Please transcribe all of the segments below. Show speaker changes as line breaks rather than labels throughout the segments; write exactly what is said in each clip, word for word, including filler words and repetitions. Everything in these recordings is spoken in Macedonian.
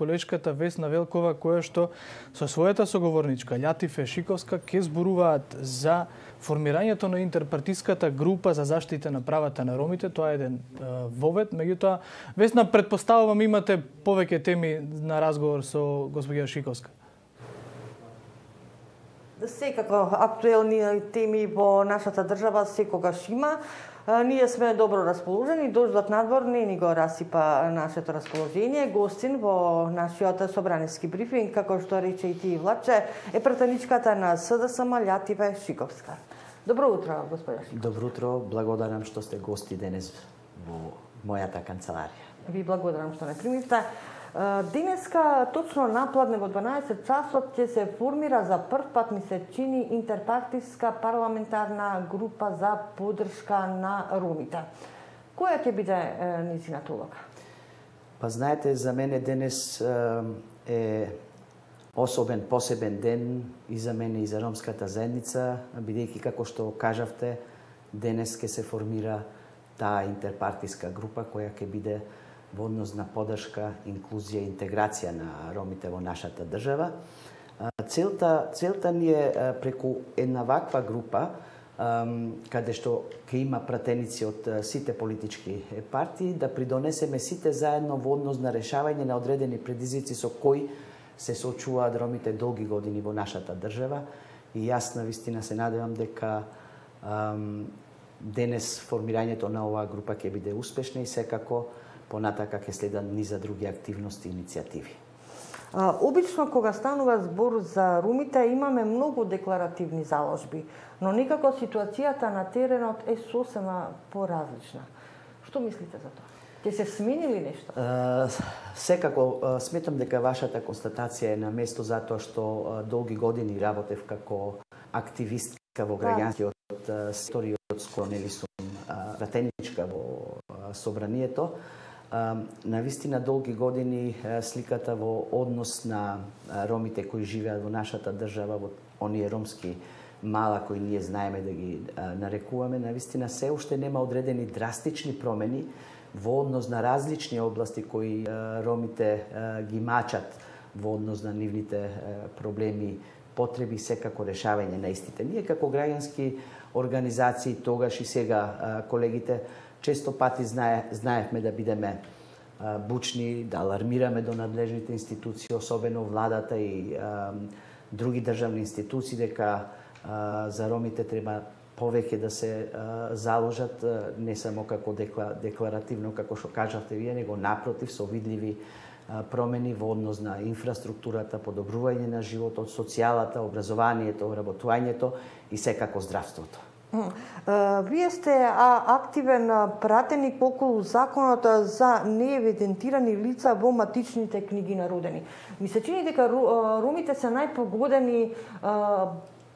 колешката Весна Велкова, која што со својата соговорничка Љатифе Шиковска ќе зборуваат за формирањето на интерпартиската група за заштита на правата на ромите. Тоа е еден вовед, меѓутоа Весна, претпоставувам имате повеќе теми на разговор со господја Шиковска.
Секако актуелни теми во нашата држава секогаш има. Ние сме добро расположени, дождот надвор не ни го расипа нашето расположение. Гостин во нашиот собраниски брифинг, како што рече и ти, Владче, е пратеничката на СДСМ Љатифе Шиковска. Добро утро, господја Шиковска.
Добро утро, благодарам што сте гости денес во мојата канцеларија.
Ви благодарам што не примивте. Денеска, точно напладне во дванаесет часот, ќе се формира за прв пат, ми се чини, интерпартиска парламентарна група за поддршка на ромите. Која ќе биде нејзината улога?
Па знаете, за мене денес е особен, посебен ден и за мене и за ромската заедница, бидејќи, како што кажавте, денес ќе се формира таа интерпартиска група која ќе биде во однос на поддршка, инклузија и интеграција на ромите во нашата држава. Целта, целта ни е преку една ваква група, каде што ќе има пратеници од сите политички партии, да придонесеме сите заедно во однос на решавање на одредени предизвици со кои се соочуваат ромите долги години во нашата држава. И јас навистина се надевам дека денес формирањето на оваа група ќе биде успешна и секако понатака ќе следат низа други активности и иницијативи.
Обично, кога станува збор за ромите, имаме многу декларативни заложби, но никако ситуацијата на теренот е сосема поразлична. Што мислите за тоа? Ќе се смени ли нешто?
Секако, сметам дека вашата констатација е на место затоа што долги години работев како активистка во граѓанскиот сектор и од скоро нели сум пратеничка во собранието. Навистина долги години сликата во однос на ромите кои живеат во нашата држава, во оние ромски мала кои ние знаеме да ги нарекуваме, навистина се уште нема одредени драстични промени во однос на различни области кои ромите ги мачат во однос на нивните проблеми, потреби, секако решавање на истите. Ние како граѓански организации, тогаш и сега колегите, често пати знае, знаевме да бидеме а, бучни, да алармираме до надлежните институции, особено владата и а, други државни институции, дека а, за ромите треба повеќе да се а, заложат, а, не само како декла, декларативно, како што кажавте вие, него напротив, со видливи а, промени во однос на инфраструктурата, подобрување на животот, социјалата, образованието, работувањето и секако здравството.
Вие сте активен пратеник околу законот за неевидентирани лица во матичните книги на родени. Ми се чини дека ромите се најпогодени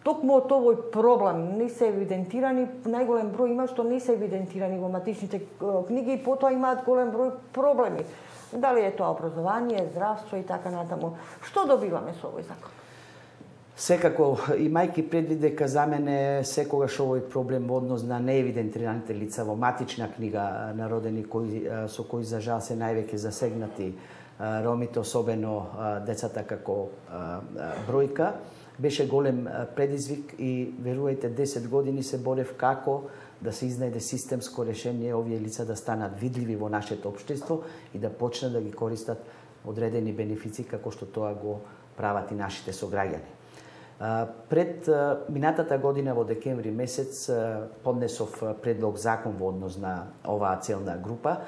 токму од овој проблем. Не се евидентирани, најголем број има што не се евидентирани во матичните книги и потоа имаат голем број проблеми. Дали е тоа образование, здравство и така натаму. Што добиваме со овој закон?
Секако, имајќи предвид дека за мене секогаш овој проблем во однос на неевидентираните лица во матична книга на родени кои, со кои за жал се највеќе засегнати ромите, особено децата како бројка, беше голем предизвик и верувајте десет години се борев како да се изнајде системско решение овие лица да станат видливи во нашето општество и да почнат да ги користат одредени бенефици како што тоа го прават и нашите сограѓани. Пред минатата година во декември месец поднесов предлог закон во однос на оваа целна група,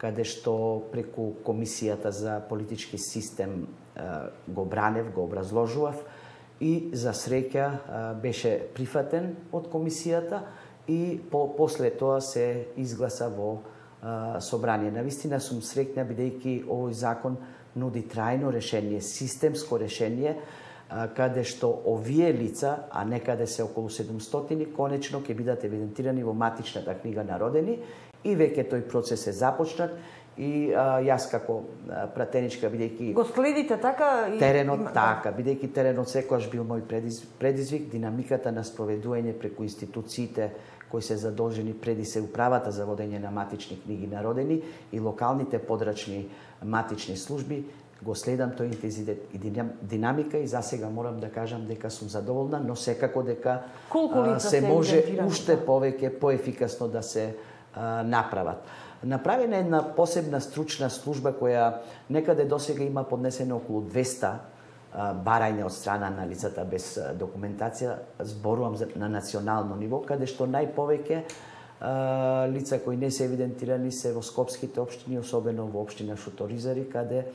каде што преку Комисијата за политички систем го бранев, го образложував и за среќа беше прифатен од Комисијата и по, после тоа се изгласа во собрание. Навистина сум среќна бидејќи овој закон нуди трајно решение, системско решение, каде што овие лица, а некаде се околу седумстотини, конечно ќе бидат евидентирани во матичната книга на родени и веќе тој процес е започнат и а, јас како пратеничка, бидејќи
го следите така и
теренот
има...
така, бидејќи теренот секогаш бил мој предизвик, динамиката на спроведување преку институциите кои се задолжени преди се управата за водење на матични книги на родени и локалните подрачни матични служби, го следам тој интензитет и динамика и за сега морам да кажам дека сум задоволна, но секако дека а, се може уште повеќе поефикасно да се а, направат. Направена е една посебна стручна служба која некаде досега има поднесено околу двеста а, барања од страна на лицата без документација, зборувам на национално ниво, каде што најповеќе а, лица кои не се евидентирани се во скопските општини, особено во општина Шуторизари, каде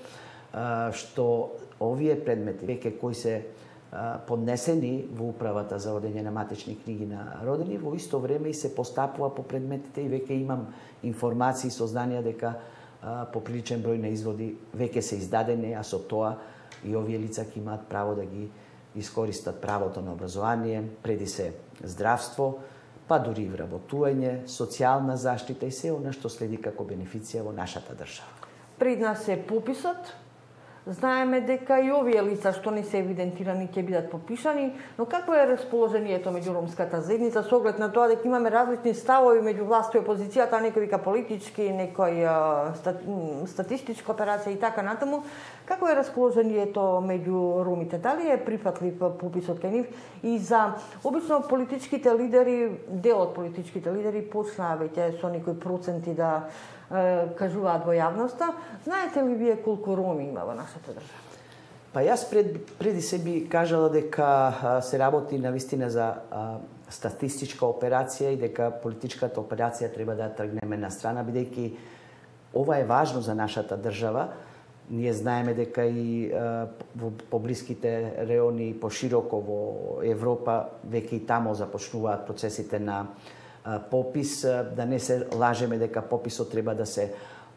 а, што овие предмети веќе кои се а, поднесени во управата за водење на матични книги на родени, во исто време и се постапува по предметите и веќе имам информации и сознанија дека а, поприличен број на изводи веќе се издадени, а со тоа и овие лица ќе имаат право да ги искористат правото на образование, преди се здравство, па дури и вработување, социјална заштита и се она што следи како бенефиција во нашата држава.
Пред нас е пописот. Знаеме дека и овие лица што не се евидентирани ќе бидат попишани, но какво е расположението меѓу ромската заедница со оглед на тоа дека имаме различни ставови меѓу власт и опозицијата, некој вика политички, некој статистичка операција и така натаму. Какво е расположението меѓу ромите? Дали е прифатлив пописот кај нив? И за обично политичките лидери, дел од политичките лидери почнаа веќе со некои проценти да кажуваат во јавноста. Знаете ли вие колку роми има во нашата држава?
Па јас пред, преди се би кажала дека се работи навистина за а, статистичка операција и дека политичката операција треба да тргнеме на страна, бидејќи ова е важно за нашата држава. Ние знаеме дека и а, во поблиските реони пошироко во Европа веќе и тамо започнуваат процесите на попис, да не се лажеме дека пописот треба да се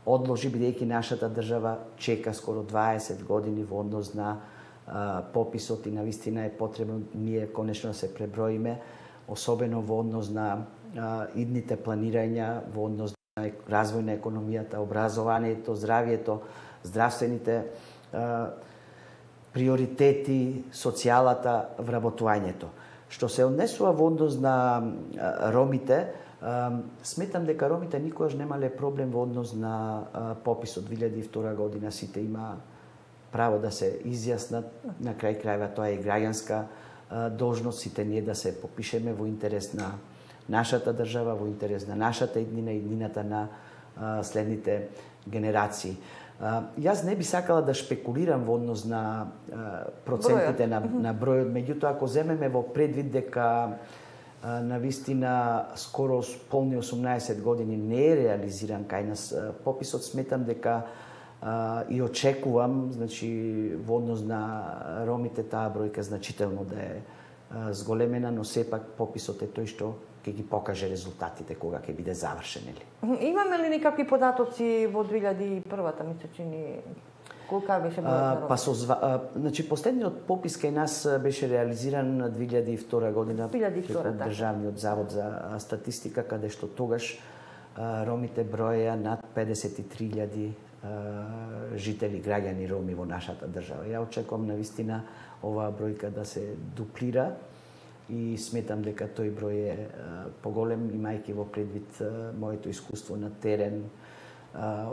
одложи, бидејќи нашата држава чека скоро дваесет години во однос на а, пописот и навистина е потребно ние конечно да се преброиме, особено во однос на а, идните планирања, во однос на развој на економијата, образованието, здравието, здравствените а, приоритети, социјалата, вработувањето. Што се однесува во однос на ромите, сметам дека ромите никогаш немале проблем во однос на пописот две илјади и втора година. Сите има право да се изјаснат, на крај крајва тоа е граѓанска должност, сите ние да се попишеме во интерес на нашата држава, во интерес на нашата иднина и иднината на следните генерации. Јас не би сакала да шпекулирам во однос на процентите на, на бројот, меѓутоа ако земеме во предвид дека навистина скоро полни осумнаесет години не е реализиран кај нас пописот, сметам дека и очекувам, значи во однос на ромите таа бројка значително да е зголемена, но сепак пописот е тој што ќе ги покаже резултатите кога ќе биде завршен, или?
Имаме ли никакви податоци во две илјади и првата, мисля, че ни колка беше бројот на
Па со а, значи последниот попис кај нас беше реализиран на две илјади и втора година преку Државниот завод за статистика, каде што тогаш а, ромите броеа над педесет и три илјади жители, граѓани роми во нашата држава. Ја очекувам навистина оваа бројка да се дуплира и сметам дека тој број е поголем, имајќи во предвид моето искуство на терен,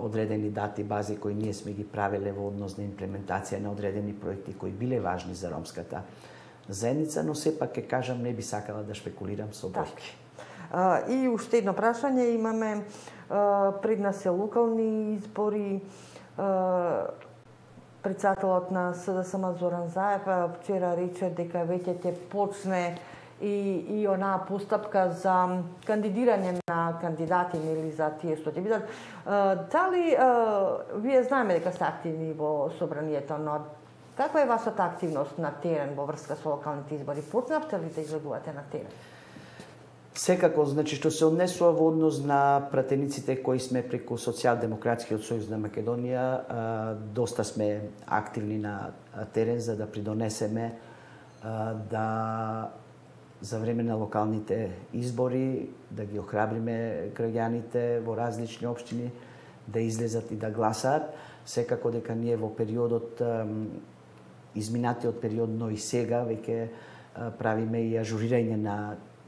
одредени дати, бази кои ние сме ги правеле во однос на имплементација на одредени проекти кои биле важни за ромската заедница, но сепак ќе кажам, не би сакала да шпекулирам со бројки.
И уште едно прашање имаме, пред нас се локални избори. Председателот на СДСМ Зоран Заев вчера рече дека веќе ќе почне и, и онаа постапка за кандидирање на кандидати или за тие што ќе бидат. Дали вие знаеме дека сте активни во собранието, но каква е вашата активност на терен во врска со локалните избори? Почнавте ли да излегувате на терен?
Секако, значи, што се однесува во однос на пратениците кои сме преку Социјалдемократскиот сојуз на Македонија, доста сме активни на терен за да придонесеме да за време на локалните избори да ги охрабриме граѓаните во различни општини да излезат и да гласаат. Секако дека ние во периодот, изминатиот период, но и сега веќе правиме и ажурирање на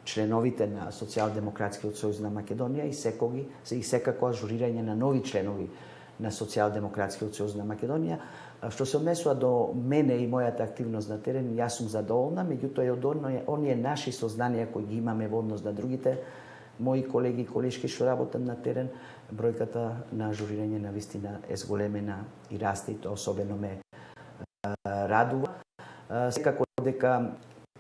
членовите на Социјалдемократскиот сојуз на Македонија и секоги и секако ажурирање на нови членови на Социјалдемократскиот сојуз на Македонија. Што се однесува до мене и мојата активност на терен, јас сум задоволна, меѓутоа и од оние, оние наши сознанија кои ги имаме во однос на другите мои колеги и колешки што работат на терен, бројката на ажурирање на вистина е зголемена и расте, и тоа особено ме радува. Секако дека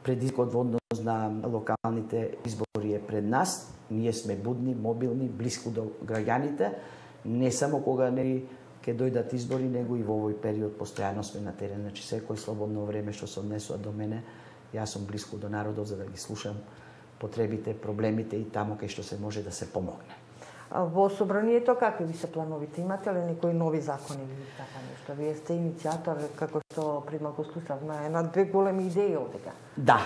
предизвикот во однос на локалните избори е пред нас. Ние сме будни, мобилни, блиску до граѓаните, не само кога нели ќе дојдат избори, него и во овој период постојано сме на терен. Значи секој слободно време што се однесува до мене, јас сум блиску до народот за да ги слушам потребите, проблемите и таму кај што се може да се помогне.
Во собранието какви ви се плановите? Имате ли некои нови закони или така нешто? Вие сте иницијатор, како што пред малку слушавме, една-две големи идеи овдека.
Да,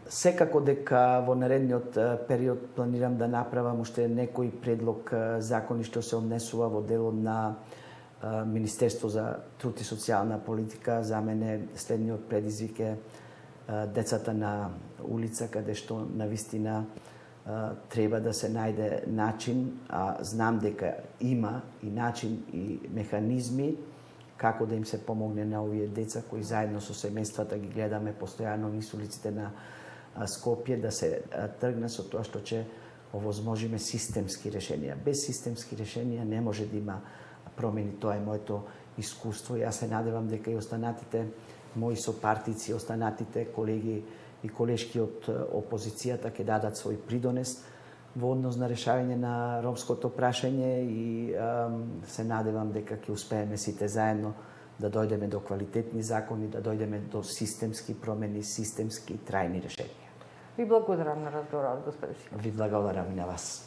секако дека во наредниот период планирам да направам уште некој предлог закони што се однесува во делот на Министерство за труд и социјална политика. За мене следниот предизвик е децата на улица, каде што навистина треба да се најде начин, а знам дека има и начин и механизми како да им се помогне на овие деца кои заедно со семејствата ги гледаме постојано низ улиците на Скопје, да се тргне со тоа што ќе овозможиме системски решенија. Без системски решенија не може да има промени. Тоа е моето искуство. Јас се надевам дека и останатите мои сопартици, останатите колеги и колешки од опозицијата ќе дадат свој придонес во однос на решавање на ромското прашање и ам, се надевам дека ќе успееме сите заедно да дојдеме до квалитетни закони, да дојдеме до системски промени, системски трајни решенија.
Ви благодарам на разговорот, господин Шиков.
Ви благодарам и на вас.